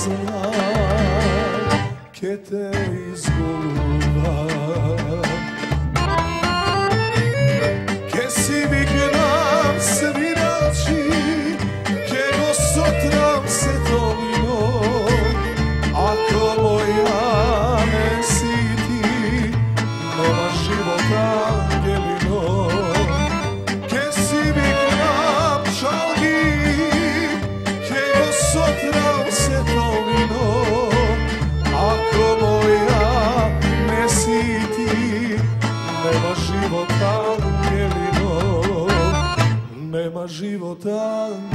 знам, ке те изголувам. Ке си викнам свирачи, ке го сотрам сето вино, ако моја не си ти, нема живот ангелино. Ке си викнам чалги, ке го сотрам сето вино, ако моја не си ти, нема живот ангелино, нема живот ангелино.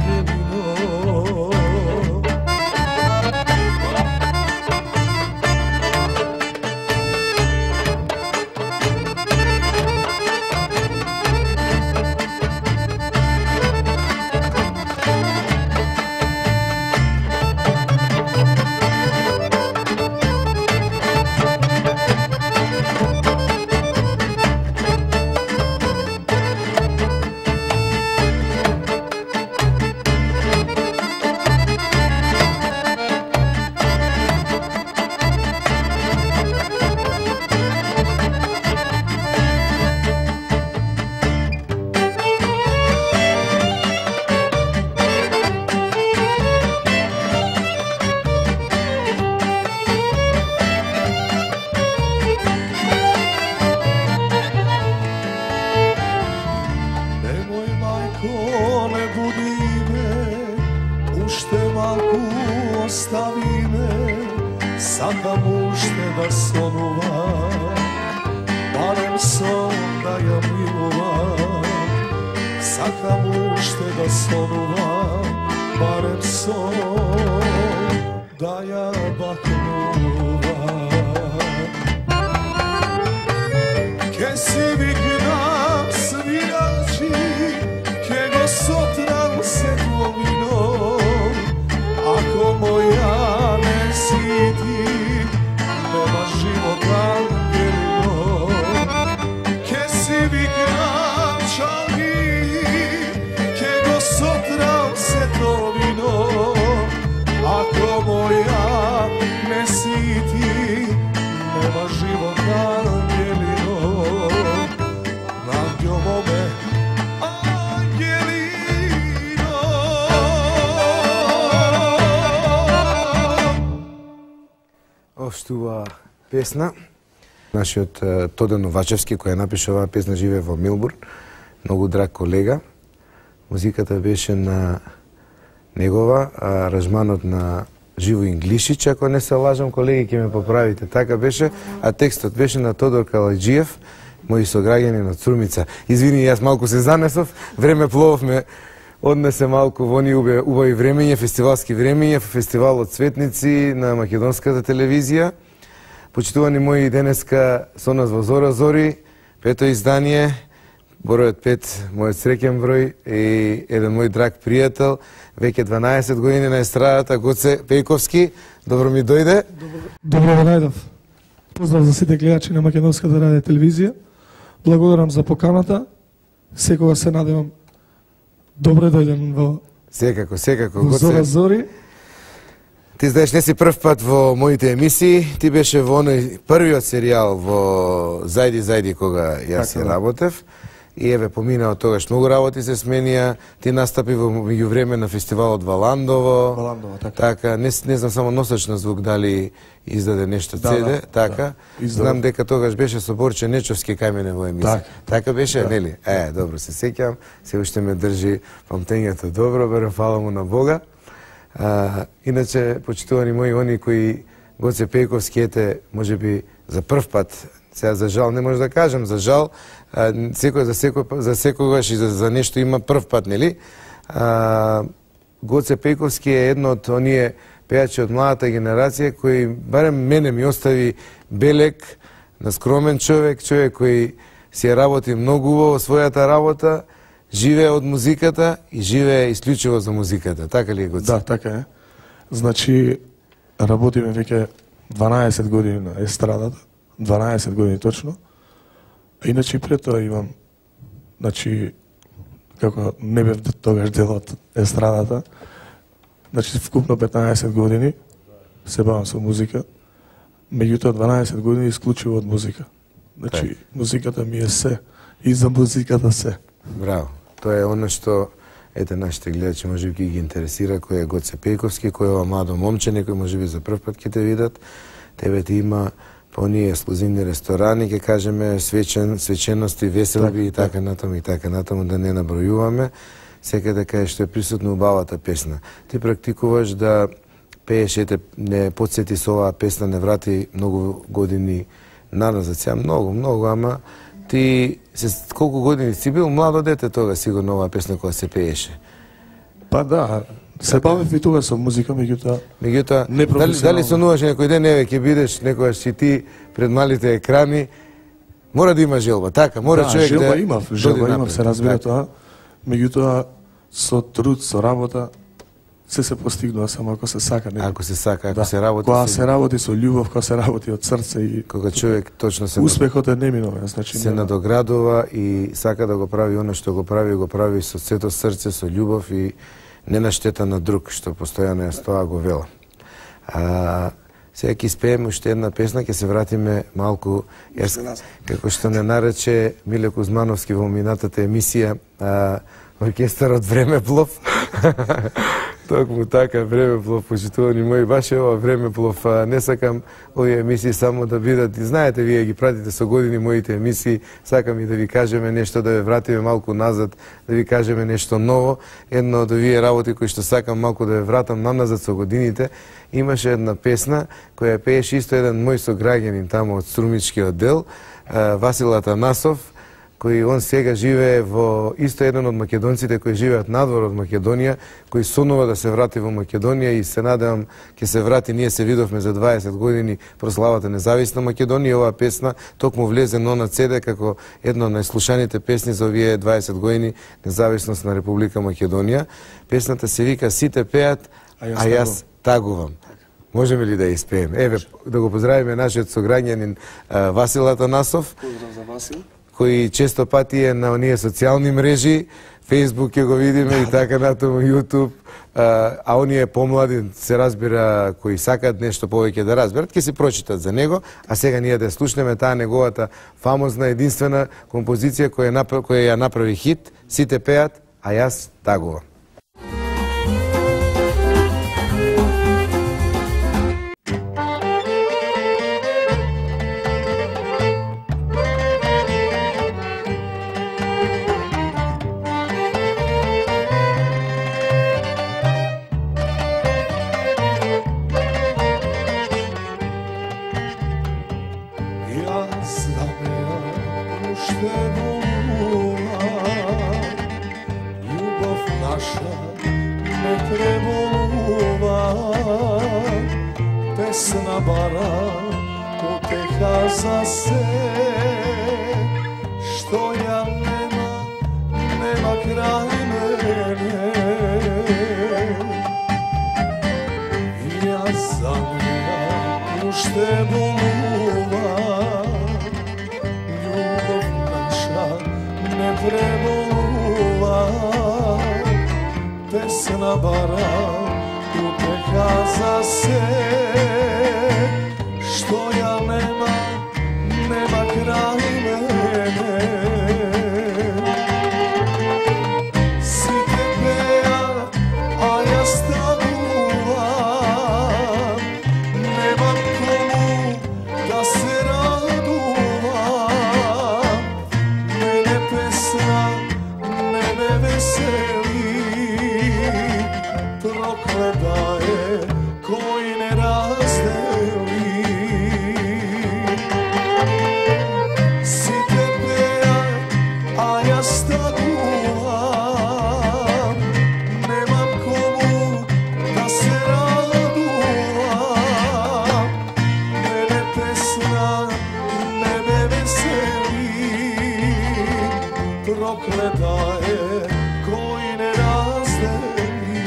Сакам уште да сонувам, барем сон да ја милувам. Сакам уште да сонувам, барем сон да ја бакнувам. Ке си викнам свирачи, ке го сотрам сето вино, ако моја не си ти, нема живот ангелино. Ке си викнам чалги, ке го сотрам сето вино, ако моја не си ти, нема живот ангелино. Ангело ме, ангелино. Оштува песна. Нашиот Тодор Новачевски, кој ја напиша оваа песна, живее во Мелбурн. Многу драг колега. Музиката беше на негова, аранжманот на Живо Инглишич, ако не се лажам, колеги, ќе ме поправите. Така беше, а текстот беше на Тодор Калајджиев, мои сограѓани на Цурмица. Извини, јас малку се занесов, време плововме, однесе малку во оние убави времења, фестивалски времења, фестивалот Цветници на македонската телевизија. Почитувани мои, денеска со нас во Зора Зори, пето издание, бројот 5, мојот среќен број и еден мој драг пријател, веќе 12 години на естрадата, Гоце Пејковски. Добро ми дојде. Добро ве најдов. Поздрав за сите гледачи на македонската радио телевизија. Благодарам за поканата. Секогаш се надевам добре дојден во Секако, во Зора Зори. Ти знаеш, не си прв пат во моите емисии, ти беше во оној првиот серијал во Зајди, кога јас си работев. И еве, помина од тогаш многу работи се сменија, ти настапи во меѓувреме на фестивалот во Ландово. Така, не знам само Носач на звук дали издаде нешто CD, така. Знам дека тогаш беше со Борче Нечовски кај мене во емисија. Така беше, нели? Добро се сеќам, се уште ме држи памтењето добро, берем фала му на Бога. Иначе, почитувани мои, они кои Гоце Пејковски, ете, можеби за прв пат, сега за жал не може да кажам, за жал, секој за секогаш и за нешто има прв пат, нели? Гоце Пејковски е едно од оние пејачи од младата генерација кои барем мене ми остави белег на скромен човек кој си работи многу во својата работа, живее од музиката и живее исклучиво за музиката. Така ли е, Гоце? Да, така е. Значи, работиме веќе 12 години на естрадата, 12 години точно. Иначе пред тоа имам, значи, како не бев тогаш дел од естрадата, значи вкупно 15 години се бавам со музика. Меѓутоа 12 години исклучиво од музика. Значи, музиката ми е се. И за музиката се. Браво. Тоа е оно што ете нашите гледачи можеби ги интересира, кој е Гоце Пејковски, кој е ова младо момче, некој можеби за прв пат ќе те видат. Тебе ти има по оние ексклузивни ресторани, ќе кажеме свечености, веселби и така натаму да не набројуваме. Секаде кај што е присутно убавата песна. Ти практикуваш да пееш, ете, не подсети со оваа песна, не врати многу години назад, сега многу, ама ти колку години си бил младо дете тога, сигурно оваа песна која се пееше. Па да, се бавев и тога со музика, меѓутоа непрофесионално. Дали сонуваш некој ден, еве ќе бидеш некогаш си ти пред малите екрани, мора да има желба, така, мора човек желба да желба имав, се разбира тоа. Меѓутоа со труд, со работа се постигнува само ако се сака. Ако се сака, ако се работи. Кога се работи со љубов, кога се работи од срце и кога човек точно се успехот е неминовен, значи се надоградува и сака да го прави она што го прави со сето срце, со љубов и не на штета на друг, што постојано ја тоа го вела. Сега ќе испееме уште една песна, ќе се вратиме малку, како што не нарече Миле Кузмановски во минатата емисија, оркестарот Времеплов. Токму така, Времеплов, почитувани мои, баш е ова Времеплов. Не сакам овие емисии само да бидат, и знаете, вие ги пратите со години моите емисии, сакам и да ви кажеме нешто, да ве вратиме малку назад, да ви кажеме нешто ново. Едно од овие работи кои што сакам малку да ве вратам наназад со годините, имаше една песна која пееше исто еден мој сограѓанин тамо од Струмичкиот дел, Васил Атанасов, кој он сега живее во исто еден од македонците кои живеат надвор од Македонија, кој сонува да се врати во Македонија и се надевам ќе се врати. Ние се видовме за 20 години прославата независна Македонија. Оваа песна токму влезе на CD како една од најслушаните песни за овие 20 години независност на Република Македонија. Песната се вика Сите пеат, а јас тагувам. Можеме ли да ја испееме? Еве, да го поздравиме нашиот сограѓанин Васил Атанасов. Поздрав за Васил. Кој често пати е на оние социјални мрежи, Facebook ќе го видиме и така натаму, YouTube, а оние помлади, се разбира, кои сакаат нешто повеќе да разберат, ќе си прочитат за него, а сега ние да слушнеме таа неговата фамозна, единствена композиција која ја направи хит, Сите пеат, а јас тагувам. Pesna bara, uteha za se, što ja nema kraj mene. Ja zamljam ušte boluva, ljubav naša ne preboluva. Pesna bara, uteha za se, što ja nema kraj mene. Site peat, a ja staguvam, nemam komu da se raduvam. Mene pesna ne me veseli, prokleta je koji ne razdeli. Site peat, a ja staguvam, nemam komu da se raduvam. Mene pesna ne me veseli, prokleta je koji ne razdeli.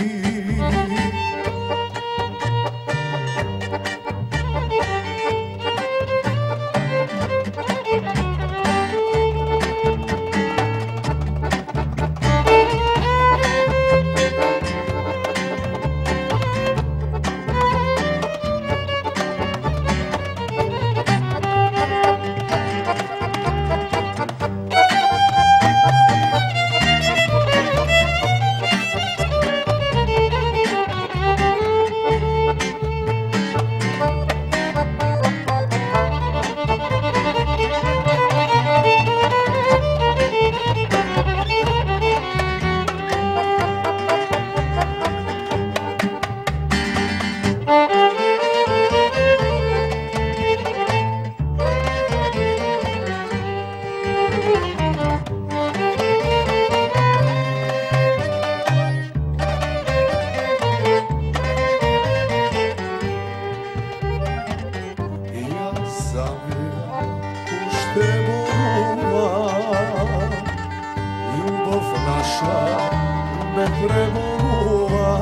преболува,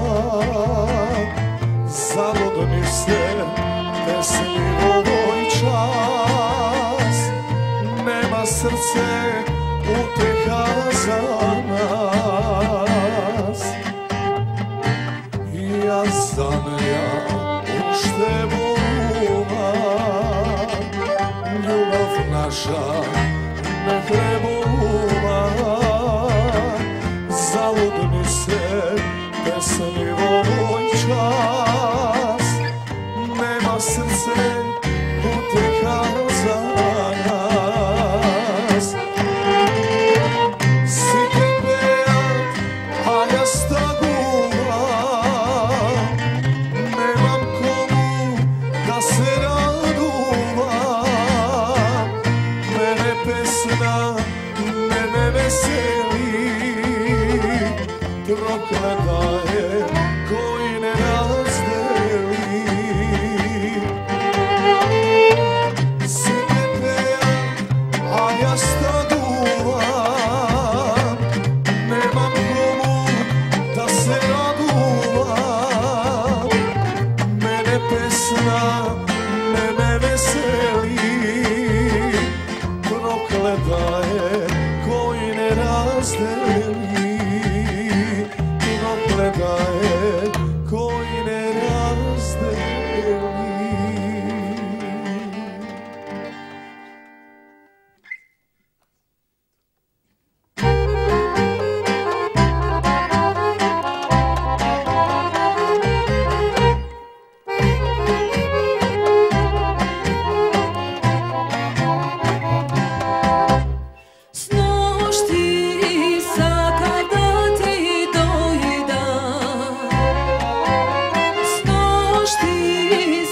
залудни се песни во овој час. Нема срце утеха за нас. Јас за неја уште волувам, љубов наша не преболува, залудни се песни во овој час. Нема срце утеха за нас. Сите пеат, а јас тагувам, немам кому да се радувам. Мене песна не ме весели, проклета е кој не раздели. Сите пеат, а јас тагувам, немам кому да се радувам. Мене песна не ме весели, проклета е кој не раздели. Проклета е кој не раздели. Сношти сакав да ти дојдам, сношти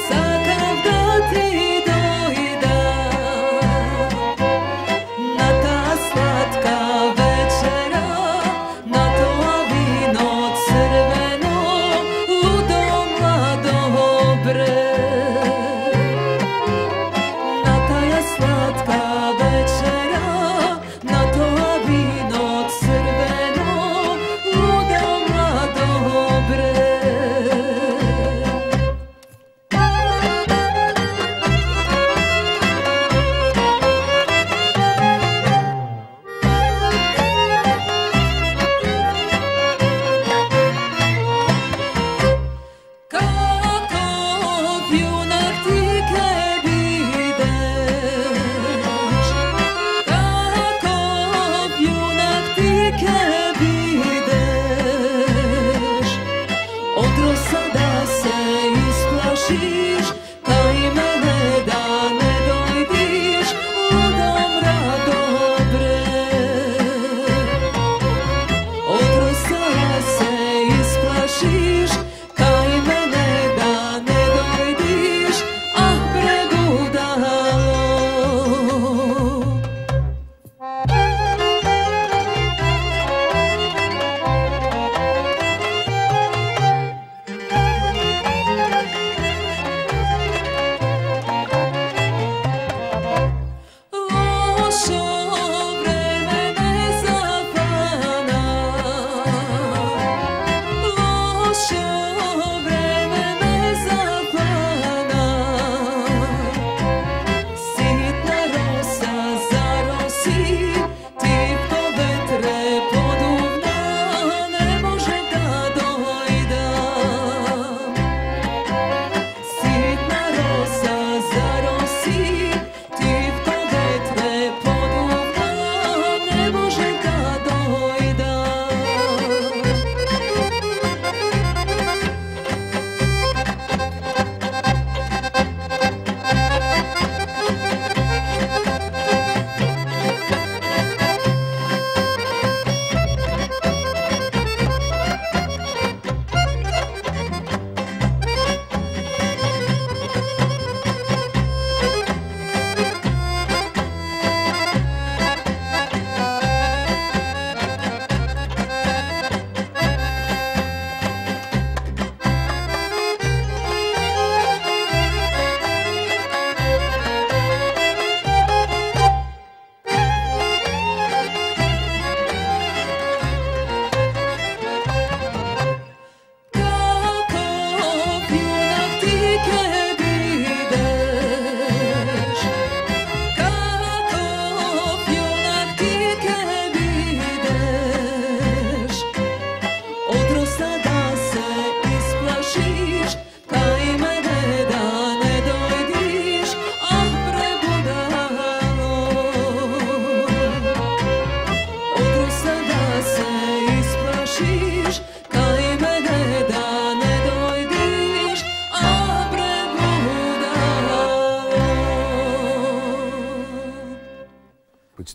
сакав да ти дојдам, на таа сладка вечера, на тоа вино црвено, лудо младо бре. На таа сладка вечера, на тоа вино црвено, лудо младо бре. Каков јунак ти ке бидеш, каков јунак ти ке бидеш, од роса да се исплашиш, кај мене да не дојдиш, лудо мрадо бре. Од роса се исплашиш, кај мене да не дојдиш, ах бре будало.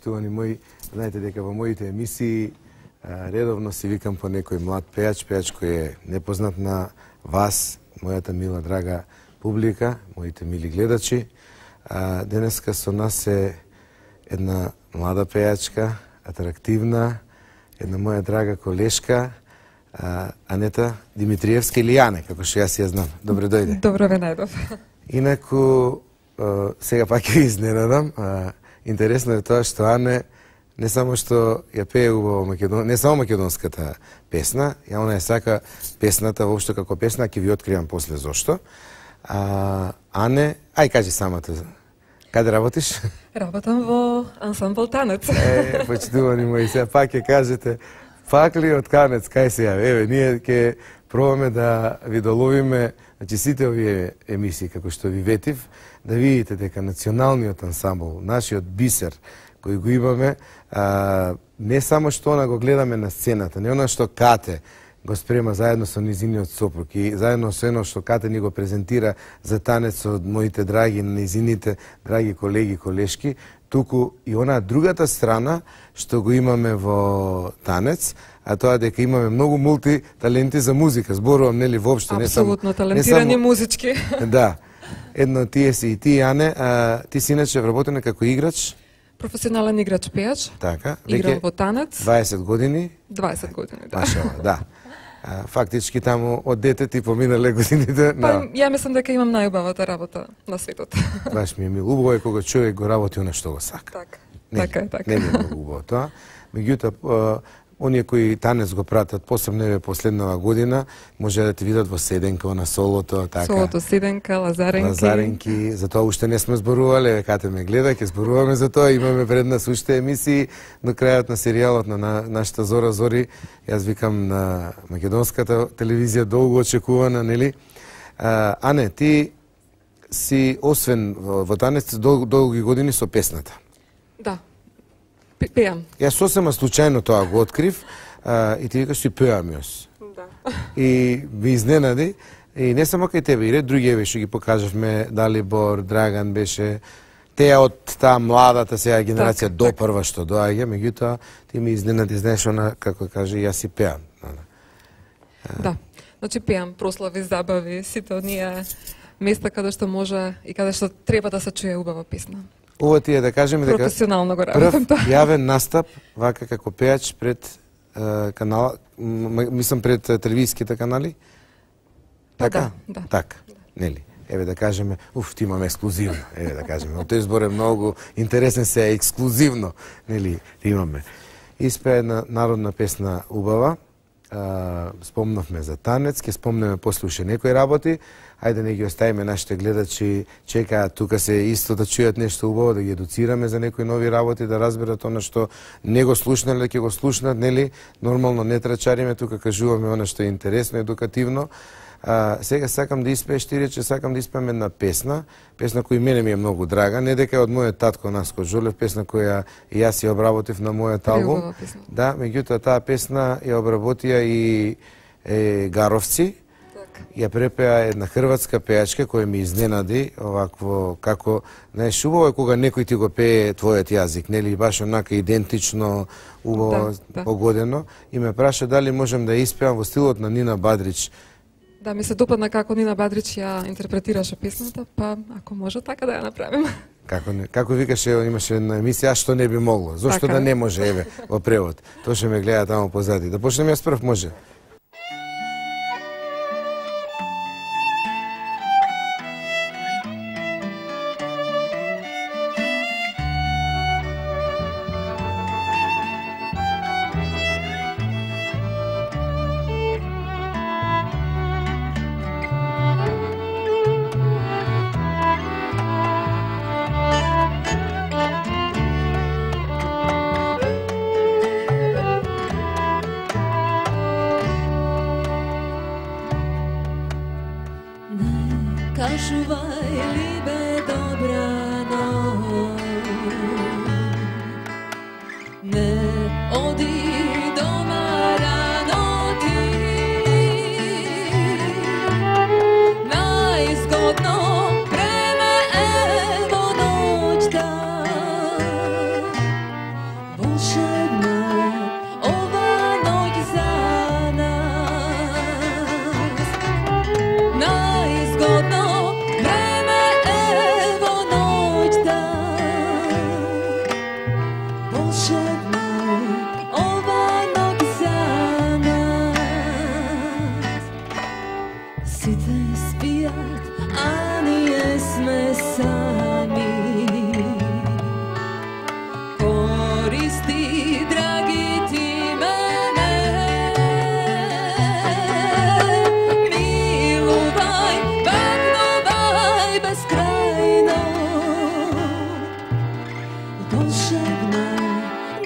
почитувани мои, знаете дека во моите емисии редовно си викам по некој млад пејач кој е непознат на вас, мојата мила драга публика, моите мили гледачи. Денеска со нас е една млада пејачка, атрактивна, една моја драга колешка, Анета Димитриевска или Јане, како што јас ја знам. Добре дојде. Добро ве најдов. Инаку, сега пак ја изненадам. Интересно е тоа што Ане не само што ја пее убаво не само македонската песна, ја она ја сака песната воопшто како песна, ќе ви откривам после зошто. Ане, ај кажи самата. Каде работиш? Работам во ансамбл Танец. Почитувани мои, сега пак ќе кажете, пак ли од Канец, кај се јави? Еве, ние ќе пробаме да ви доловиме, значи сите овие емисии, како што ви ветив, да видите дека националниот ансамбл, нашиот бисер, кој го имаме, не само што она го гледаме на сцената, не она што Кате го спрема заедно со низиниот сопруг и заедно со ено што Кате ни го презентира за танец од моите драги, низините драги колеги, колешки, туку и она другата страна што го имаме во танец, а тоа дека имаме многу мултиталенти за музика, зборувам нели воопшто, не само апсолутно талентирани музички. Да. Едно тие си и ти, Ане, ти си иначе вработена како играч. Професионален играч пејач. Така, играм во танец. 20 години. 20 години, да. Машала, да. Фактички таму од дете ти поминале годините. Па, ја мислам дека имам најубавата работа на светот. Баш ми е мил. Убаво е кога човек го работи она што го сака. Така. Не е многу убаво тоа. Меѓутоа, оние кои танец го пратат, посебно еве последнава година, може да ти видат во Седенка, на солото, така. Солото, Седенка, Лазаренки, за тоа уште не сме зборувале, Кате ме гледа, ќе зборуваме за тоа, имаме пред нас уште емисии до крајот на серијалот на нашата Зора Зори, јас викам на македонската телевизија долго очекувана, нели? Ане, ти си освен во танец долги години со песната. Да. Пеам. Јас сосема случајно тоа го открив и ти викаш си пеам јас. Да. И ми изненади, и не само кај тебе, и ред други еве што ги покажавме, Далибор, Драган беше, теја од таа младата сега генерација до прва што доаѓа, меѓутоа ти ми изненади, знаеш, она, како каже, јас си пеам. Да, значи пеам прослави, забави, сите оние места каде што може и каде што треба да се чуе убава песна. Ова ти е да кажеме дека професионално го работам прв јавен настап вака како пејач пред канала, мислам пред телевизиските канали. Така? Да. Така, нели? Еве да кажеме, ти имаме ексклузивно, еве да кажеме. Тој збор е многу интересен, се ексклузивно, нели, имаме. Испеа една народна песна убава, спомнавме за танец, ќе спомнеме после уште некои работи, ајде не ги оставиме нашите гледачи, чекаат тука се исто да чујат нешто убаво, да ги едуцираме за некои нови работи, да разберат она што не го слушнале, ќе го слушнат, нели? Нормално не трачариме, тука кажуваме она што е интересно, едукативно. Сега сакам да испееш, ти рече, сакам да испеем една песна која мене ми е многу драга, не дека е од мојот татко Наско Жолев, песна која и јас ја обработив на мојот албум. Да, меѓутоа таа песна ја обработија и Гаровци. Ја препеа една хрватска пејачка која ми изненади, овакво како, знаеш, убаво е кога некој ти го пее твојот јазик, нели, баш онака идентично, убаво, погодено, и ме праша дали можам да испеам во стилот на Нина Бадрич. Да, ми се допадна како Нина Бадрич ја интерпретираше песната, па ако може така да ја направим. Како викаше, имаше една емисија, а што не би могло? Зошто да не може, еве, во превод? Тоа што ме гледа таму позади. Да почнем јас прв, може? Kažuvaj libe dobrano, ne odi doma rano ti, najzgodno vreme evo dođ da, најзгодно време ево ноќта. Волшебна ова ноќ за нас. Сите спијат, а ние сме сами. Користи, драги ти мене, милувај, бакнувај безкрајно. Волшебна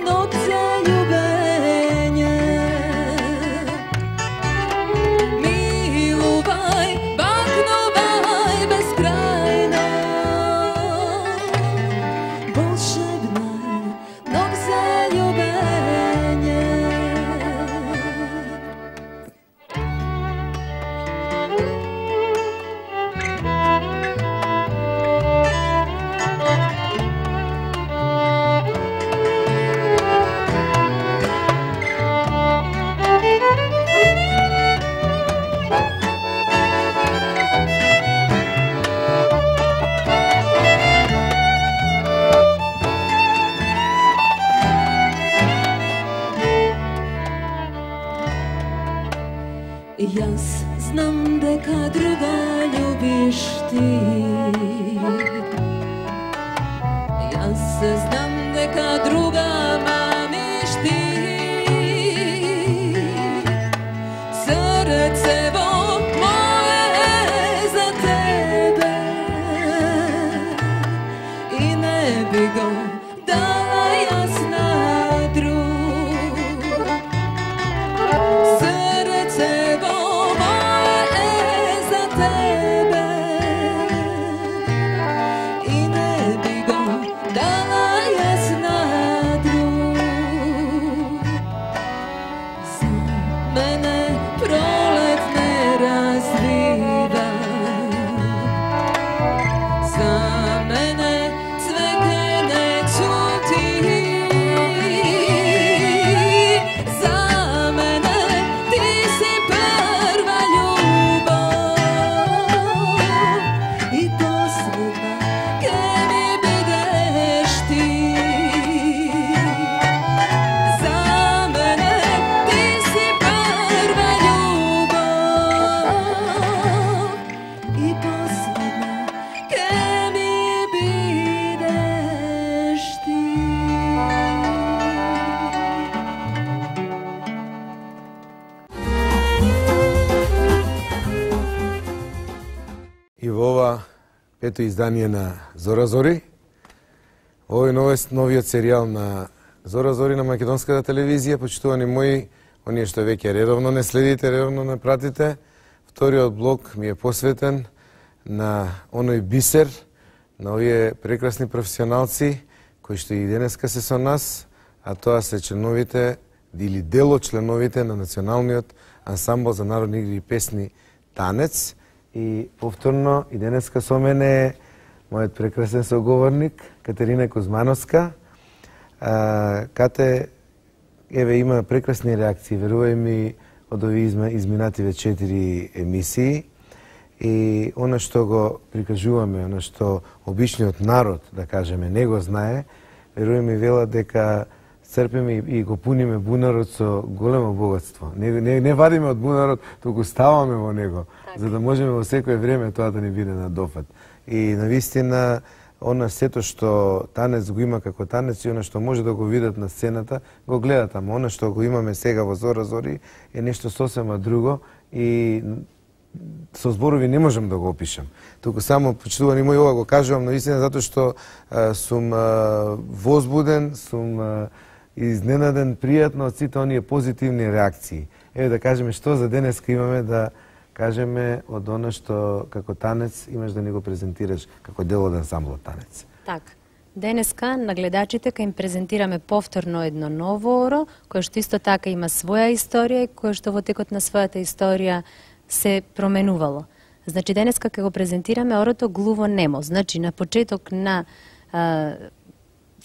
ноќ за љубење. Милувај, бакнувај безкрајно. Волшебна ноќ за љубење. Јас знам дека друга љубиш ти. Јас знам дека друга мамиш ти. Срцево мое за тебе и не би го дала јас на друг. Срцево мое за тебе и не би го дала јас на друг. За мене пролет не развива, за мене цвеќе не цути. За мене ти си прва љубов и последна ке ми бидеш ти. За мене ти си прва љубов и последна ке ми бидеш ти. И во ова пето издание на Зора Зори, овој новиот серијал на Зора Зори на македонската телевизија, почитувани мои, оние што веќе редовно не следите, редовно не пратите, вториот блок ми е посветен на оној бисер, на овие прекрасни професионалци кои што и денеска се со нас, а тоа се членовите или дел од членовите на Националниот ансамбл за народни игри и песни Танец. И повторно и денеска со мене е мојот прекрасен соговорник Катерина Кузмановска. Кате, еве, има прекрасни реакции, верувај ми, од овие изминативе 4 емисии. И она што го прикажуваме, она што обичниот народ, да кажеме, не го знае, верувај ми, вела дека црпиме и го пуниме бунарот со големо богатство. Не вадиме од бунарот, туку ставаме во него, за да можеме во секое време тоа да ни биде на дофат. И навистина, она сето што танец го има како танец и она што може да го видат на сцената, го гледат, ама она што го имаме сега во Зора Зори е нешто сосема друго и со зборови не можам да го опишам. Туку само, почитувани мои, ова го кажувам навистина затоа што сум возбуден, сум изненаден пријатно од сите оние позитивни реакции. Еве да кажеме што за денеска имаме да кажеме од она што како танец имаш да ни го презентираш како дел од ансамблот Танец. Така. Денеска на гледачите ќе им презентираме повторно едно ново оро, кое што исто така има своја историја и кое што во текот на својата историја се променувало. Значи денеска ќе го презентираме орото Глуво немо. Значи на почеток на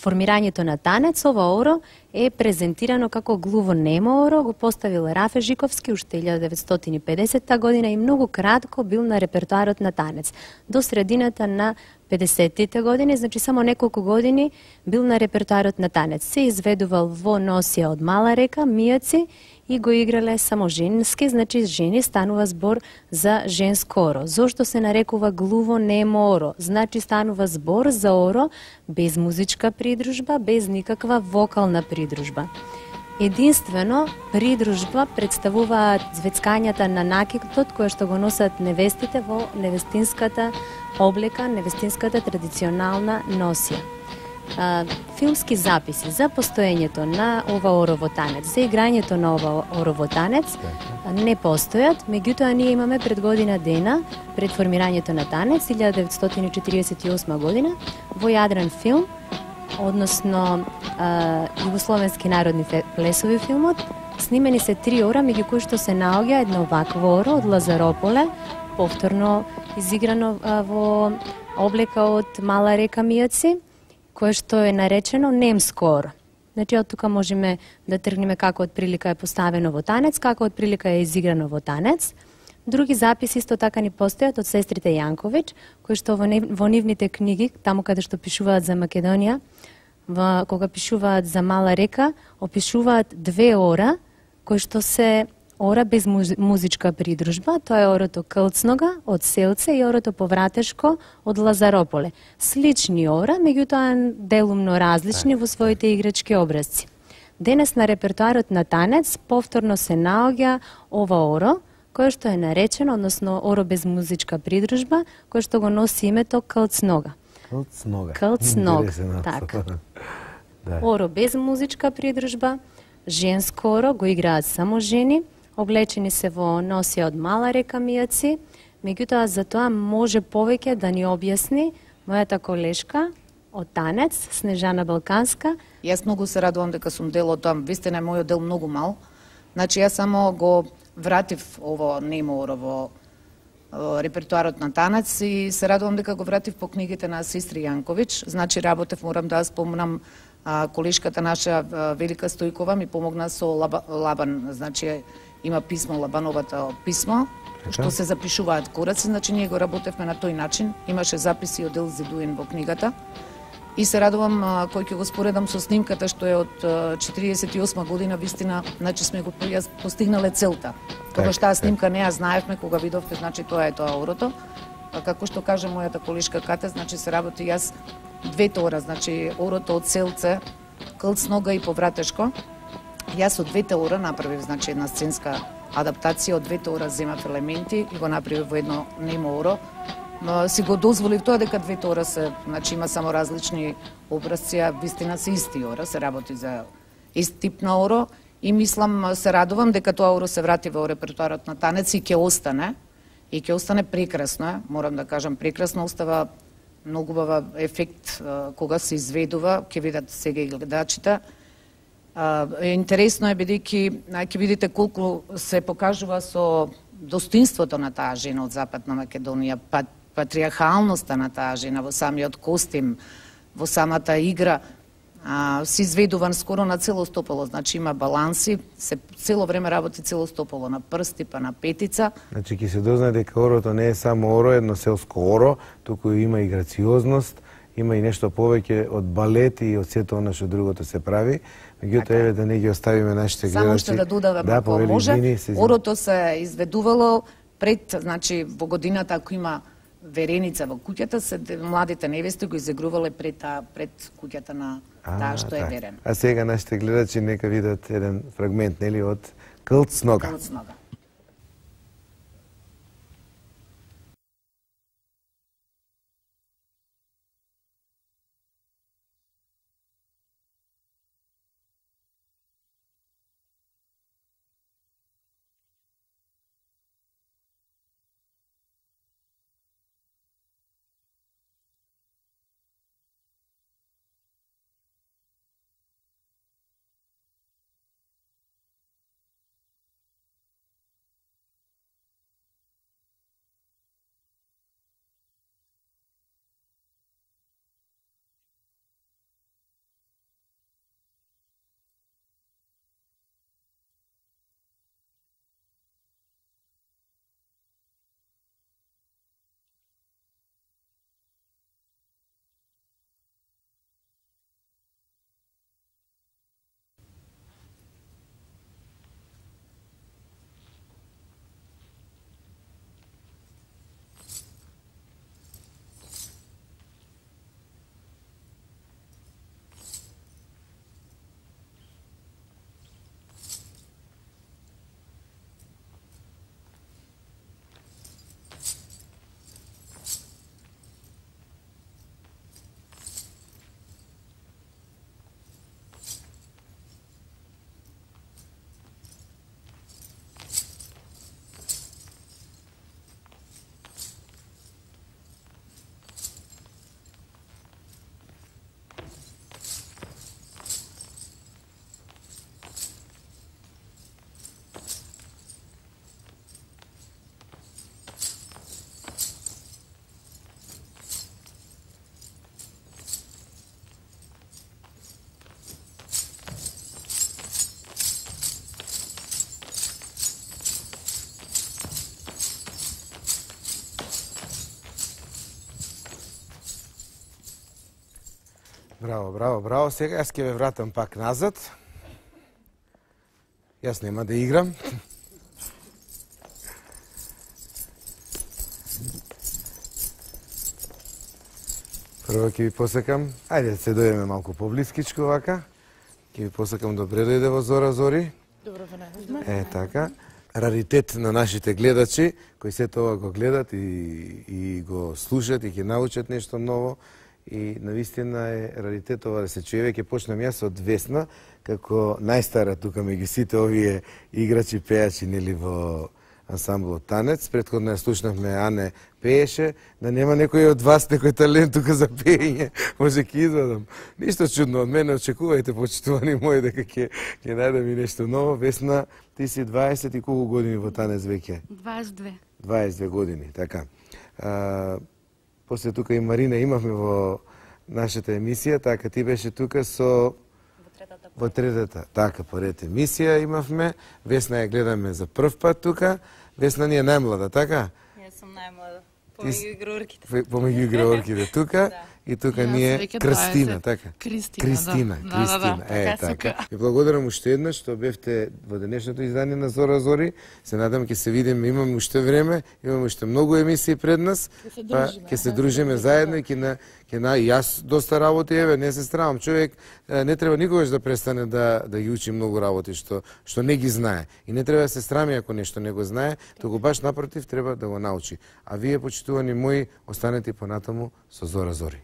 формирањето на танец, ова оро е презентирано како глуво-немо оро, го поставил Рафе Жиковски уште 1950 година и многу кратко бил на репертоарот на танец. До средината на 50-тите години, значи само неколку години бил на репертоарот на танец. Се изведувал во носија од Мала река, мијаци и го играле само женски, значи жени, станува збор за женско оро. Зошто се нарекува глуво-немо оро? Значи станува збор за оро без музичка придружба, без никаква вокална придружба. Единствено, придружба представуваат звецкањата на накитот кои што го носат невестите во невестинската облека, невестинската традиционална носија. Филмски записи за постоењето на ова орово танец, за играњето на ова орово танец не постојат, меѓутоа ние имаме пред година дена, пред формирањето на танец, 1948 година, во Јадран филм, односно југословенски народни плесови филмот, снимени се 3 ора, меѓу кои што се наоѓа едно вакво оро од Лазарополе, повторно изиграно во облека од Мала река Мијаци, кое што е наречено немско оро. Значи, од тука можеме да тргнеме како отприлика е поставено во танец, како отприлика е изиграно во танец. Други записи исто така ни постојат од сестрите Јанковиќ, кои што во нивните книги, таму каде што пишуваат за Македонија, кога пишуваат за Мала река, опишуваат 2 ора, кои што се ора без музичка придружба, тоа е орото Кълцнога од Селце и орото Повратешко од Лазарополе. Слични ора, меѓутоа делумно различни во своите играчки образци. Денес на репертоарот на танец повторно се наоѓа ова оро, кое што е наречено, односно оро без музичка придружба, кое што го носи името Кълцнога. Кълцнога. Кълцнога, така. Да. Оро без музичка придружба, женско оро, го играат само жени, облечени се во носија од Мала река Мијаци, меѓутоа за тоа може повеќе да ни објасни мојата колешка од танец, Снежана Балканска. Јас многу се радувам дека сум дел од тоа, вистина е мојот дел многу мал. Значи јас само го вратив ово немо оро во репертоарот на танец и се радувам дека го вратив по книгите на сестри Јанковиќ. Значи работев, морам да спомнам, колешката наша Велика Стојкова ми помогна со Лабан, значи има писмо, Лабановата писмо, што се запишуваат кораци, значи ние го работевме на тој начин. Имаше записи од Елзи Дуин во книгата. И се радувам кој ќе го споредам со снимката што е од 48 година, вистина, значи сме го постигнале целта. Тогаш таа снимка не ја знаевме, кога видовте, значи тоа е тоа орото. Како што каже мојата колешка Кате, значи се работи јас 2 ора, значи орото од Селце, Кълцнога и Повратешко. Јас од 2 ора направив, значи една сценска адаптација, од 2 ора земав елементи и го направив во едно немо оро. Си го дозволив тоа дека 2 ора се, значи има само различни образци, а вистина се исти ора, се работи за ист тип на оро и мислам, се радувам дека тоа оро се врати во репертоарот на танец и ќе остане. И ќе остане прекрасно, морам да кажам прекрасно, остава многу бава ефект кога се изведува, ќе видат сега и гледачите. Интересно е бидејќи ќе видите колку се покажува со достоинството на таа жена од Западна Македонија, патриархалноста на таа жена во самиот костим, во самата игра, се изведуван скоро на цело стопало, значи има баланси, се цело време работи цело стопало, на прсти па на петица. Значи ќе се дознае дека орото не е само оро, едно селско оро, туку има и грациозност, има и нешто повеќе од балет и од сето она што другото се прави. Меѓутоа еве да не ги оставиме нашите гледачи. Само што да додадам, ако може, орото се изведувало пред, значи во годината ако има вереница во куќата, младите невести го изигрувале пред куќата на таа што е верена. А сега нашите гледачи нека видат еден фрагмент, нели, од Кълцнога. Кълцнога. Браво, браво, браво. Сега јас ќе ве вратам пак назад. Јас нема да играм. Прво ќе ви посакам, ајде да се дојдеме малку поблискичко вака. Ќе ви посакам добре дојде во Зора Зори. Добро ве Така. Раритет на нашите гледачи, кои сето ова го гледат и го слушат и ќе научат нешто ново. И навистина е раритет ова да се чуе. Ќе почнам јас од Весна, како најстара тука меѓу сите овие играчи, пејачи, нели во ансамблот Танец. Претходно ја слушнавме Ане пееше, да нема некој од вас некој талент тука за пеење, може ќе извадам. Ништо чудно од мене, очекувајте, почитувани мои, дека ќе најдам и нешто ново. Весна, ти си 20 и колку години во Танец веќе? 22. 22 години, така. После тука и Марина имавме во нашата емисија, така ти беше тука со во третата, така, поред емисија имавме. Весна ја гледаме за прв пат тука. Весна ни е најмлада, така? Јас сум најмлада. Помеѓу играорките. Помеѓу играорките тука. И тука ни е Крстина, така? Кристина. Така. Ви благодарам уште еднаш што бевте во денешното издание на Зора Зори. Се надам ќе се видиме, имаме уште време, имаме уште многу емисии пред нас. Па ќе се дружиме заедно и ќе јас доста работи, еве, не се стравам. Човек не треба никогаш да престане да ги учи многу работи што не ги знае. И не треба да се срами ако нешто не го знае, туку баш напротив треба да го научи. А вие, почитувани мои, останете понатаму со Зора Зори.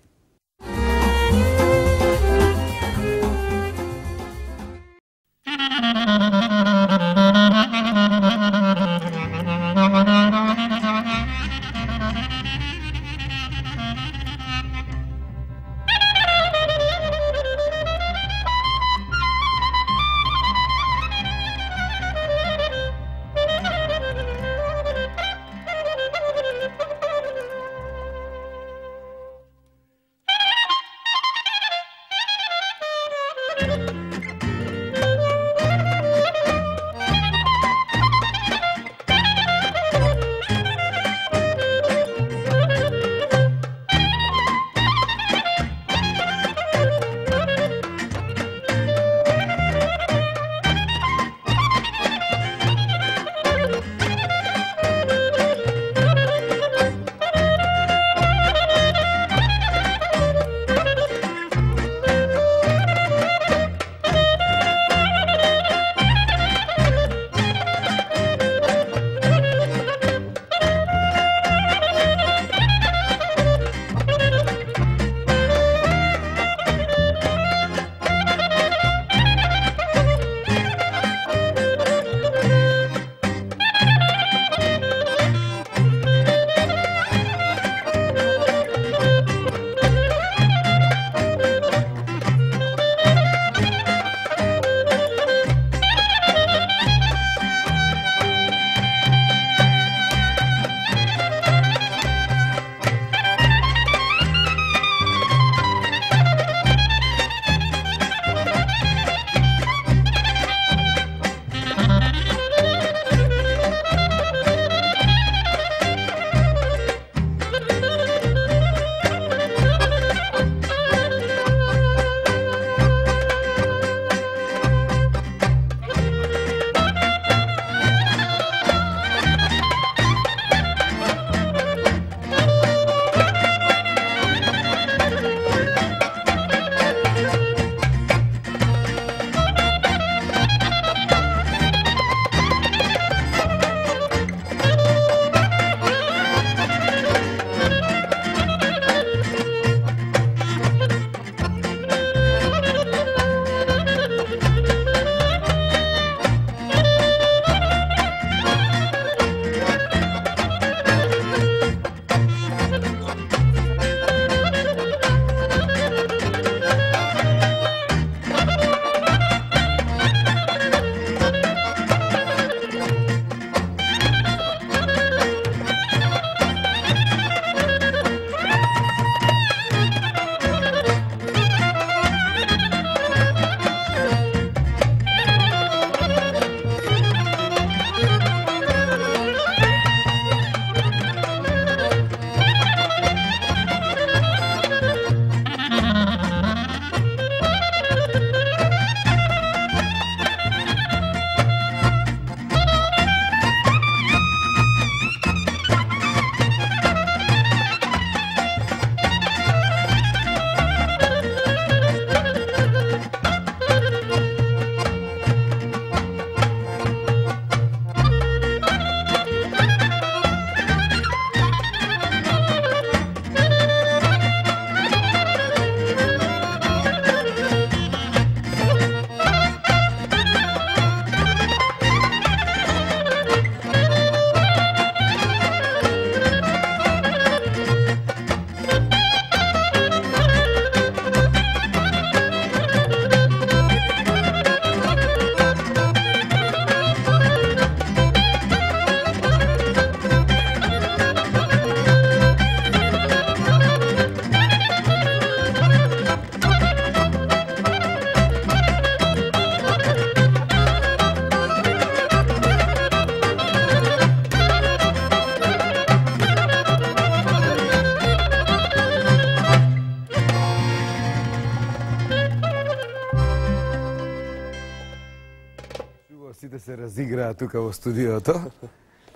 се разиграа тука во студиото.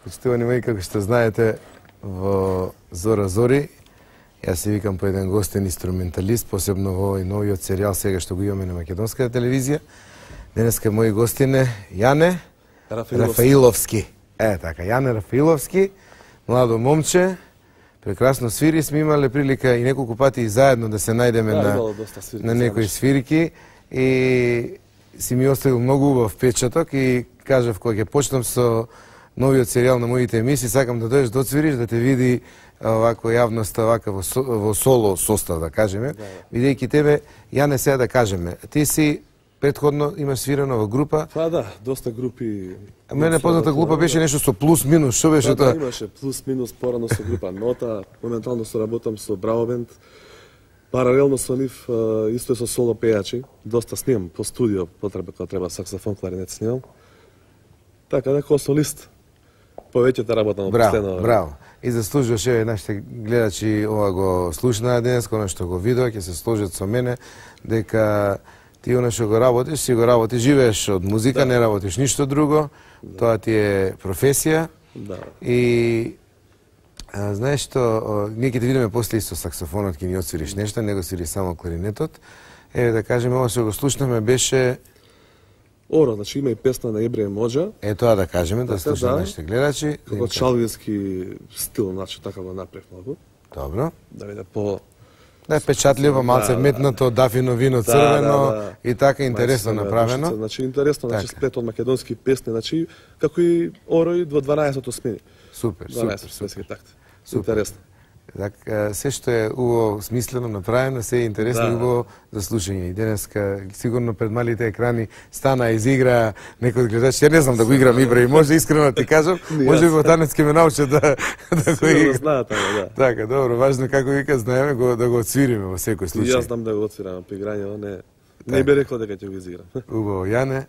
Почитувани мои, како што знаете, во Зора Зори, јас се викам по еден гостен инструменталист, посебно во овој новиот серијал сега што го имаме на македонската телевизија. Денеска мои гостине Јане Рафаиловски. Така, Јане Рафаиловски, младо момче, прекрасно свири, сме имале прилика и неколку пати и заедно да се најдеме на некои свирки и си ми оставил многу убав впечаток и кажав кога ќе почнам со новиот серијал на моите емисии, сакам да дојдеш да отсвириш, да те види овако јавноста, овака во соло состав, да кажеме. Видејќи тебе, Јане, сега да кажеме, ти си претходно имаш свирено во група. Па да, доста групи. Мене позната група беше нешто со плюс-минус, што беше тоа? Да, имаше плюс-минус порано со група Нота, моментално соработам со Браво бенд. Паралелно со нив, исто е со соло пејачи, доста снимам по студио, потреба кога треба саксофон, кларинет снимам. Така да, како солист, повеќето работам во последно. Браво. И заслужуваш, еве, нашите гледачи ова го слушнаа денес, она што го видоа, ќе се сложат со мене, дека ти оно што го работиш, си го работиш, живееш од музика, не работиш ништо друго, тоа ти е професија. Да. И знаеш што, ние ќе те видиме после со саксофонот, ќе ни отсвириш нешто, не го свири само кларинетот. Еве да кажеме, ова што го слушнаме беше Оро, значи има и песна на Ебрие Моџа. тоа да кажеме, да слушаме нашите гледачи. Како чалвински стил, значи така го направив многу. Добро. Да биде по... Да е печатливо, малце метнато, дафино вино црвено и така интересно направено. Значи интересно, значи сплет од македонски песни, значи како и Орој во 12-то смени. Супер, 12 светски такт. Интересно. Така, се што е убаво смислено направено, се е интересно и убаво за слушање. И денеска, сигурно пред малите екрани стана и изигра некој од гледачи. Ја не знам да го играм Ибра и може искрено да ти кажам, може би во танец ќе ме научат да го играм. Знаат, да. Така, добро, важно како вика, знаеме да го отсвириме во секој случај. Јас знам да го отсвирам при играње, не би рекол дека ќе го изиграм. Убаво, Јане,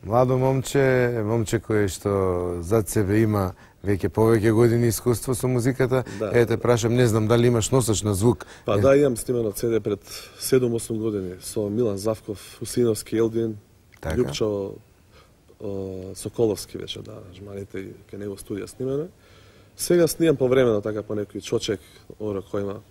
младо момче кое што зад себе има веќе повеќе години искуство со музиката. Ете, прашам, не знам дали имаш носач на звук. Па да, имам снимано CD пред 7-8 години со Милан Завков, Усиновски, Елдин, Љупчо, Соколовски вече, да, жманите и кај него студија снимаме. Сега снимам повремено, така по некој чочек, оро кој има.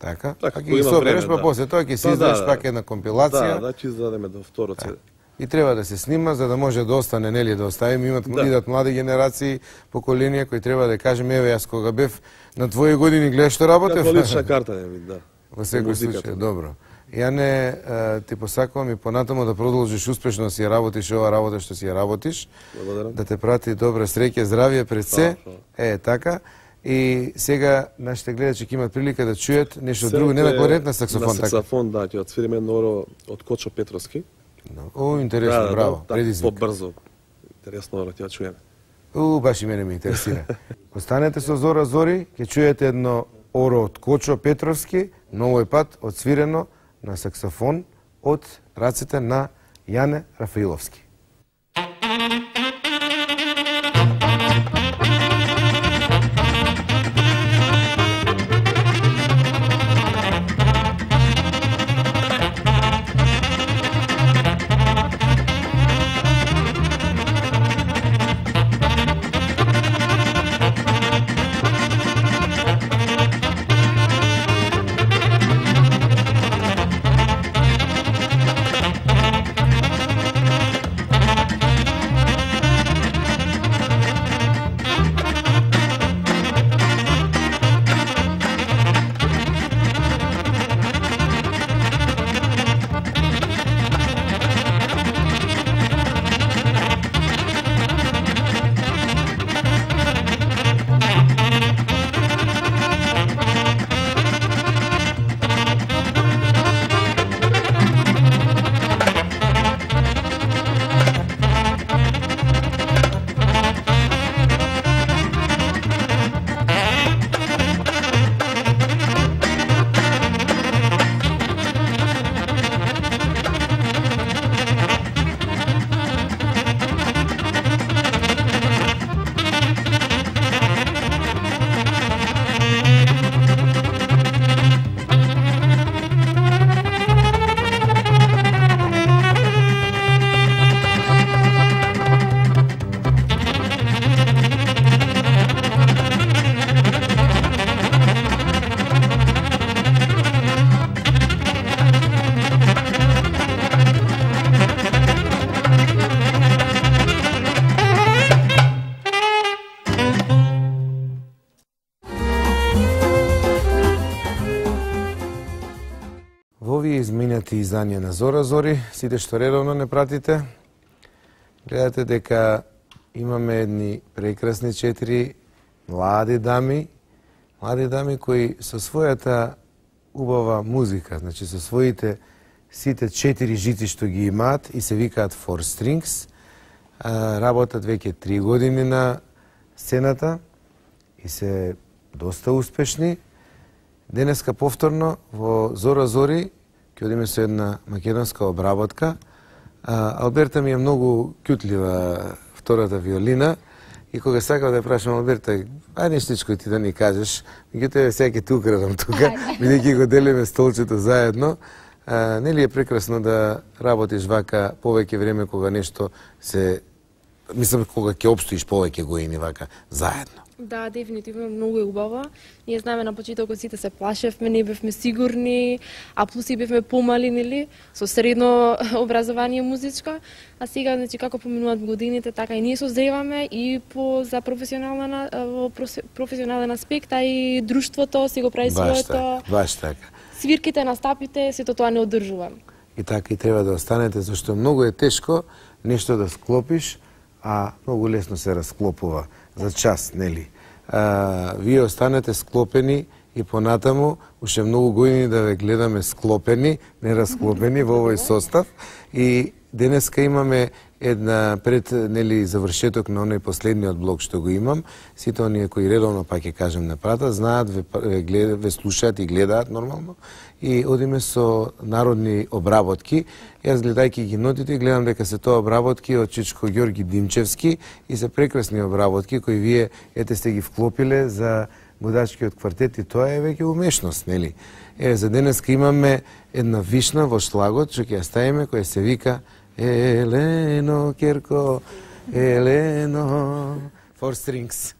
Така ќе ги собереш, па после тоа ќе си издадеш пак една компилација. Да, ќе издадеме до второ CD. И треба да се снима за да може да остане, нели, да оставиме, идат млади генерации, поколенија кои треба да кажеме, еве јас кога бев на твои години гледаш што работев. Како лична карта не вид, да. Во секој случај, добро. Јане, ти посакувам и понатаму да продолжиш успешно да си ја работиш ова работа што си ја работиш. Благодарам. Да те прати добра среќа, здравје пред се. Така. И сега нашите гледачи ќе имат прилика да чујат нешто друго, не на кларинет, на саксофон. На саксофон, да, ќе отсвириме едно од Кочо Петровски. О, интересно, браво, предизвик. Побрзо, интересно, ќе чуеме. Баш и мене ме интересира. Останете со Зора Зори, ќе чуете едно оро од Кочо Петровски, но овој пат отсвирено на саксофон од рацете на Јане Рафаиловски. изминати издање на Зора Зори, сите што редовно не пратите, гледате дека имаме едни прекрасни 4 млади дами кои со својата убава музика, значи со своите сите 4 жици што ги имаат и се викаат Four Strings, работат веќе 3 години на сцената и се доста успешни. Денеска повторно во Зора Зори ќе одиме со една македонска обработка. Алберта ми е многу кјутлива втората виолина и кога сакав да ја прашам Алберта, ај нештичко ти да ни кажеш, меѓутоа сега ќе ти украдам тука, бидејќи го делиме столчето заедно. Нели е прекрасно да работиш вака повеќе време кога нешто се, мислам кога ќе обстоиш повеќе години вака заедно. Да, дефинитивно многу е убаво. Ние знаеме на почетокот сите се плашевме, не бевме сигурни, а плюс и бевме помали, нели, со средно образование музичко, а сега значи како поминуваат годините, така и ние созреваме и за професионален аспект, а и друштвото си го прави своето. Баш така. Свирките, настапите, сето тоа не одржува. И така и треба да останете, зашто многу е тешко нешто да склопиш, а многу лесно се расклопува за час, нели? Вие останете склопени и понатаму, уште многу години да ве гледаме склопени, не расклопени во овој состав. И денеска имаме една пред нели завршеток на оној последниот блок што го имам. Сите оние кои редовно, па ќе кажем, не пратат, знаат, ве слушаат и гледаат нормално. И одиме со народни обработки. Јас гледајќи ги нотите, гледам дека се тоа обработки од Чичко Ѓорги Димчевски и се прекрасни обработки кои вие ете сте ги вклопиле за Будачкиот квартет и тоа е веќе умешност, нели? За денеска имаме една вишна во шлагот што ќе ја ставиме, која се вика Елено Керко, Елено, Four Strings.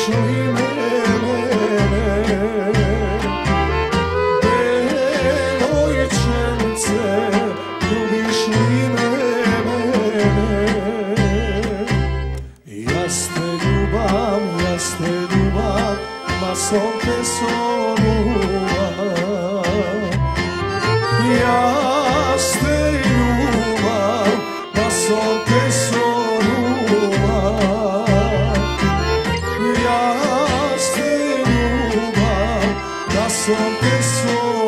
ли мене, девојченце, љубиш ли мене? Јас те љубам, ма сон те сонувам. Јас те љубам, ма сон те сонувам. Јас те љубам, ма сон те сонувам.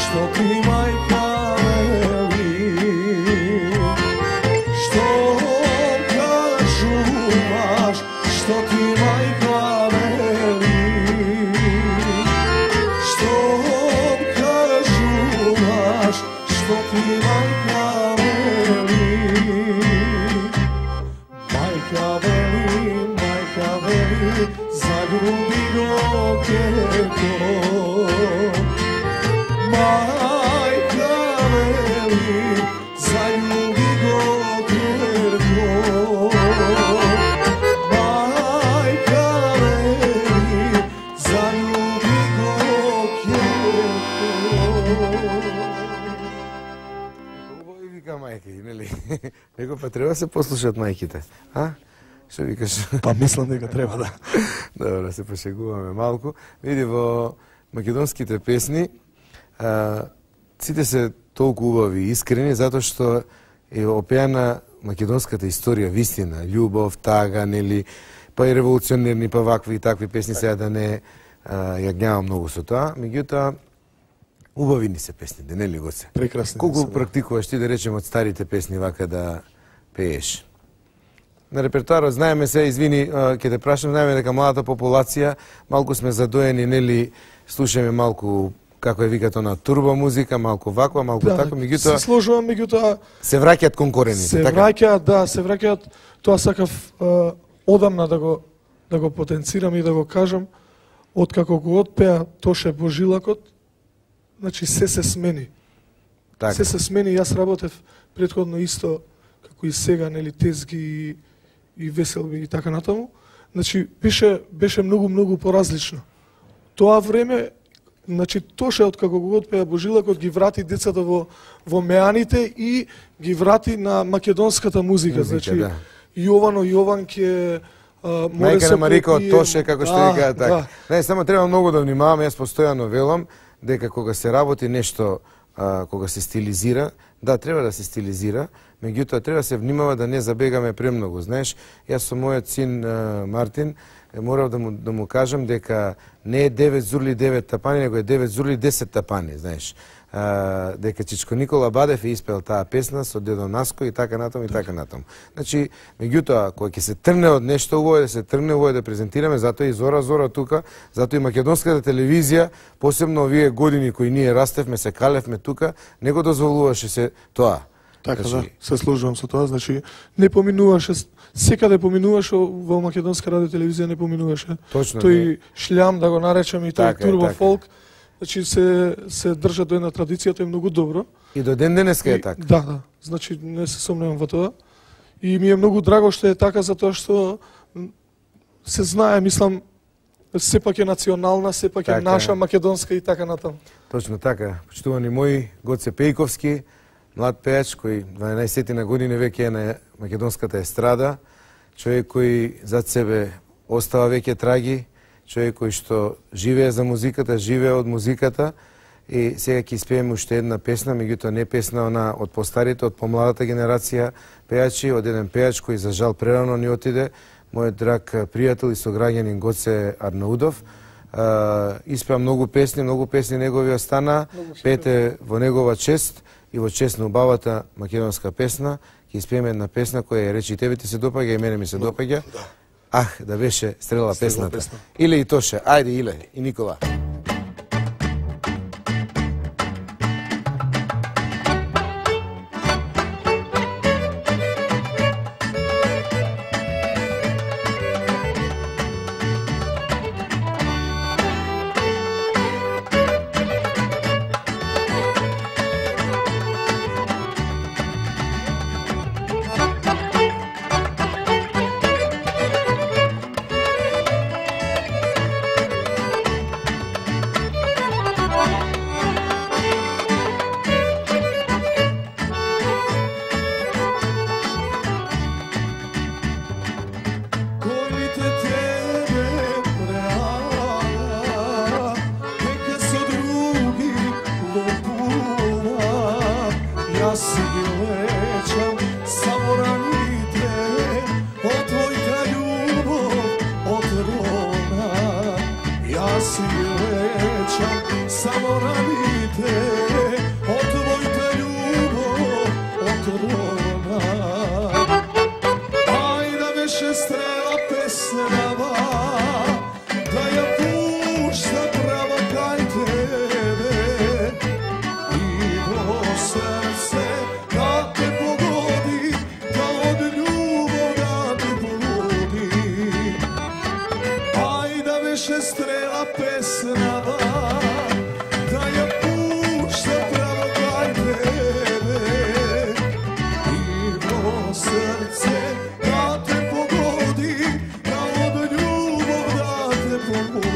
Што ти мајка вели? Што кажуваш? Што ти мајка вели? Што кажуваш? Што ти мајка вели? Мајка вели, залюби го ќерко. Мајка вели, залюби го ќерко. Мајка вели, залюби го ќерко. Убаво и вика мајки, нели? Него па треба се послушат мајките, а? Што викаш? Па мислам дека треба, да. Добро, се пошегуваме малку. Види, во македонските песни, сите се толку убави и искрени, затоа што е опеана македонската историја, вистина, љубов, тага, нели, па и револуционерни, па вакви и такви песни, сега да не јагнјавам многу со тоа, меѓутоа, убави ни се песните, нели го се? Прекрасни. Колку практикуваш ти, да речем, од старите песни вака да пееш? На репертуарот знаеме се, извини, ќе те прашам, знаеме дека младата популација малку сме задоени, нели, слушаме малку како е викато на турбо музика, малку ваква, малку така, меѓутоа се сложувам, меѓутоа се враќаат кон корените, се така? враќаат, да, се враќаат. Тоа сакав одамна да го потенцирам и да го кажам, откако го отпеа Тоше Божилакот, значи се смени. Така. Се смени, јас работев претходно исто како и сега, нели, тезги и веселби и така натаму. Значи беше многу поразлично. Тоа време, значи Тоше откако го отпеа Божилакот ги врати децата во меаните и ги врати на македонската музика. Значи да. Јовано Јованке, Мајка на Марика од Тоше, како што викаат така. Да. Не, само треба многу да внимаваме, јас постојано велам дека кога се работи нешто, кога се стилизира, да, треба да се стилизира, меѓутоа треба да се внимава да не забегаме премногу. Знаеш, јас со мојот син Мартин морав да му кажам дека не е 9 зурли 9 тапани, него е 9 зурли 10 тапани, знаеш. Дека Чичко Никола Бадев е испел таа песна со дедо Наско и така натаму и така натаму. Значи, меѓутоа, кога ќе се тргне од нешто убаво, да се тргне убаво да презентираме, затоа и Зора тука, затоа и македонската телевизија, посебно овие години кои ние растевме, се калевме тука, не го дозволуваше се тоа. Така, Значи, да, се сложувам со тоа, значи не поминуваше, секаде поминуваше во македонска радио телевизија, не поминуваше. Точно, тој шлям, да го наречам, и тој Така е, турбо така е. фолк, значи се држа до една традиција, тоа е многу добро. И до ден денеска е така. Да, значи не се сомневам во тоа. И ми е многу драго што е така, затоа што се знае, мислам, сепак е национална, сепак е Така е. наша, македонска и така натаму. Точно така. Почитувани мои, Гоце Пејковски, млад пејач кој 12 на години веќе е на македонската естрада, човек кој зад себе остава веќе траги, човек кој што живее за музиката, живее од музиката, и сега ќе испееме уште една песна, меѓутоа не песна она од постарите, од помладата генерација пејачи, од еден пејач кој за жал прерано ни отиде, мојот драг пријател и сограѓанин Гоце Арнаудов. Испеа многу песни негови остана, пете во негова чест и во чест на убавата македонска песна. Ќе испееме една песна која речи тебе ти се допаѓа и мене ми се допаѓа. Ах, да беше стрела песната. Иле и Тоше, ајде Иле и Никола. Јас ги лечам само раните од твојата љубов отровна. Јас ги лечам само раните од твојата љубов отровна. Ајде беше стрела песнава, да ја пушта право кај тебе. И во срце да те погоди, да од љубов да те погоди. Ајде беше стрела песнава, да ја пушта право кај тебе. И во срце да те погоди, да од љубов да те погоди.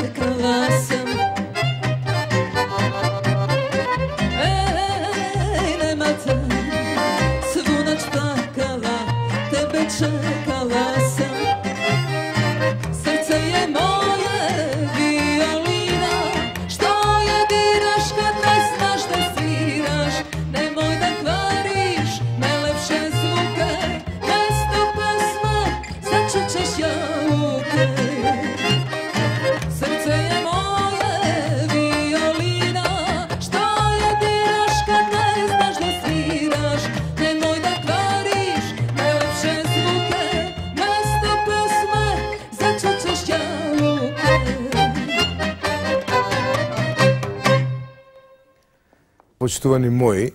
čekala sam. Nema te, svu noć plakala, tebe čekala sam. Srce je moje violina, što je diraš kad ne znaš da sviraš. Nemoj da kvariš najlepše zvuke, mesto pesma začućeš jabuke. Srce je moje violina, što je diraš kad ne znaš da sviraš. Nemoj da kvariš najlepše zvuke, mesto pesme začućeš jabuke. Почитувани мои,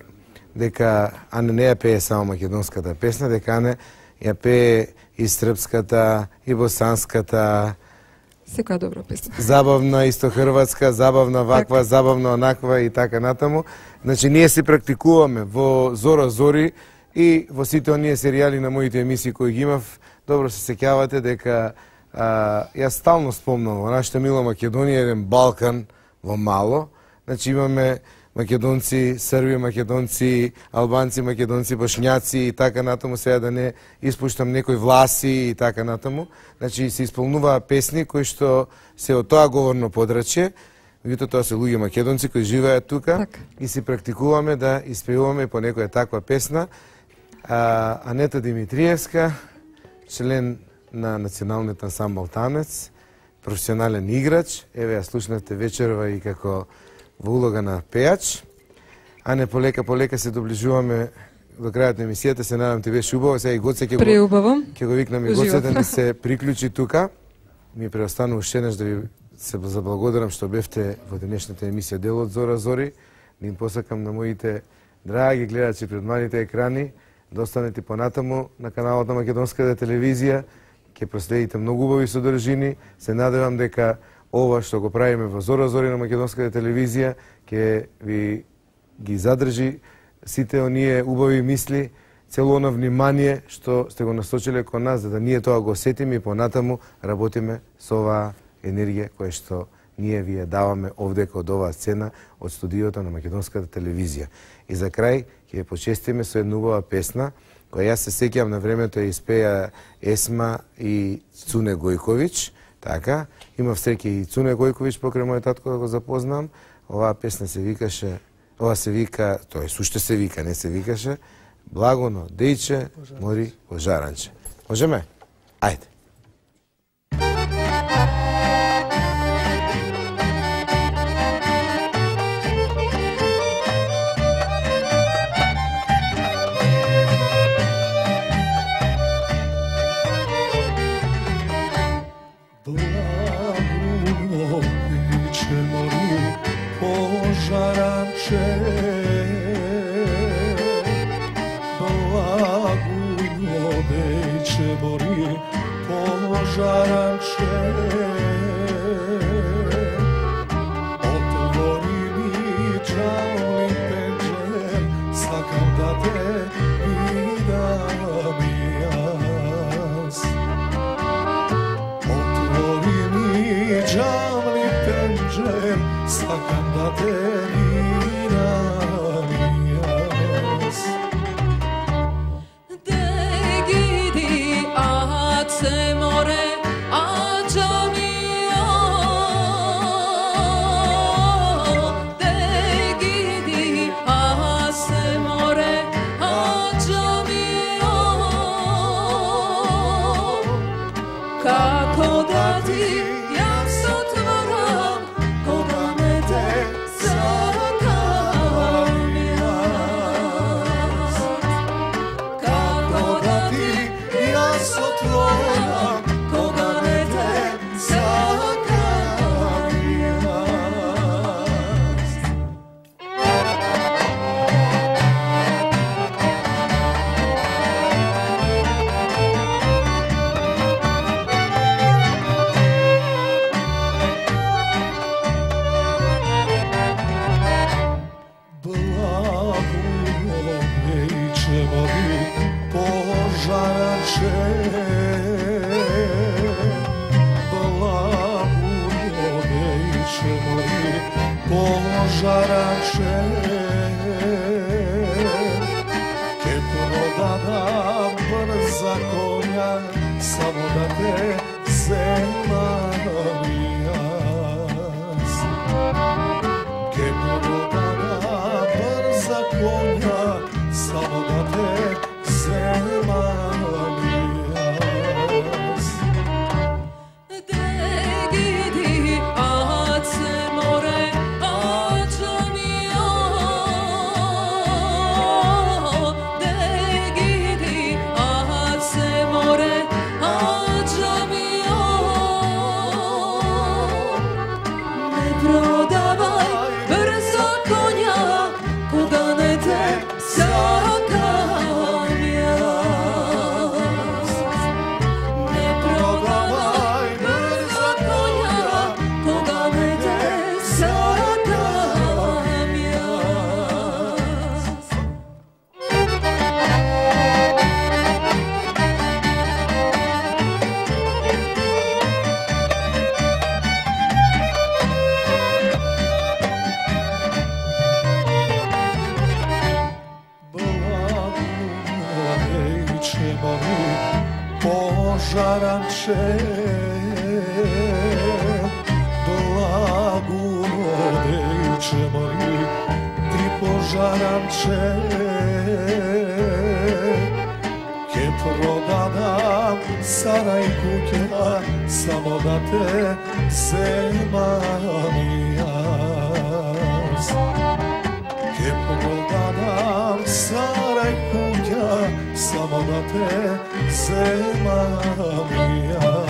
дека Ане не ја пее само македонската песна, дека Ане ја пее и српската, и босанската, Секоја добра песна. забавна исто хрватска, забавна ваква, забавна онаква и така натаму. Значи ние се практикуваме во Зора Зори и во сите оние серијали на моите емисии кои ги имав. Добро се сеќавате дека јас стално спомнам во нашата мила Македонија еден Балкан во мало. Значи имаме македонци, срби, македонци, албанци, македонци, бошњаци и така натаму, сега да не испуштам некои власи и така натаму. Значи се исполнуваа песни кои што се од тоа говорно подрачје, меѓутоа тоа се луѓе македонци кои живеат тука и се практикуваме да испевуваме по некоја таква песна. Анета Димитриевска, член на Националниот ансамбл Танец, професионален играч, еве ја слушнавте вечерва и како во улога на пејач. Ане, полека се доближуваме до крајот на емисијата, се надам ти беше убаво, сега и Гоце ќе го викнам и Гоце да ни се приклучи тука. Ми преостанува уште еднаш да ви се заблагодарам што бевте во денешната емисија дел од Зора Зори. Да им посакам на моите драги гледачи пред малите екрани да останете понатаму на каналот на Македонската телевизија. Ќе проследите многу убави содржини. Се надевам дека ова што го правиме во Зора Зори на Македонската телевизија ќе ви ги задржи сите оние убави мисли, цело оно внимание што сте го насочиле кон нас, за да ние тоа го сетиме и понатаму работиме со оваа енергија која што ние ви ја даваме овде од оваа сцена од студиото на Македонската телевизија. И за крај ќе ја почестиме со една убава песна која јас се сеќавам на времето ја испеа Есма и Цуне Гојковиќ. Така, имав среќа и Цуне Гојковиќ покрај мојот татко да го запознам. Оваа песна се викаше, ова се вика, тоа е суште се вика, не се викаше Благоно дејче мори во жаранче. Можеме? Ајде. Kako da ti ja se otvaram, koga me te пожараче, ке продадам брза конја, само да те земам јас. Ке продадам брза конја, само да те земам јас. Požaranče, blagodeće mori, ti požaranče, ke prodadam saraj kuća, samo da te zemam jas. Ke prodadam saraj kuća, samo da te zemam ja.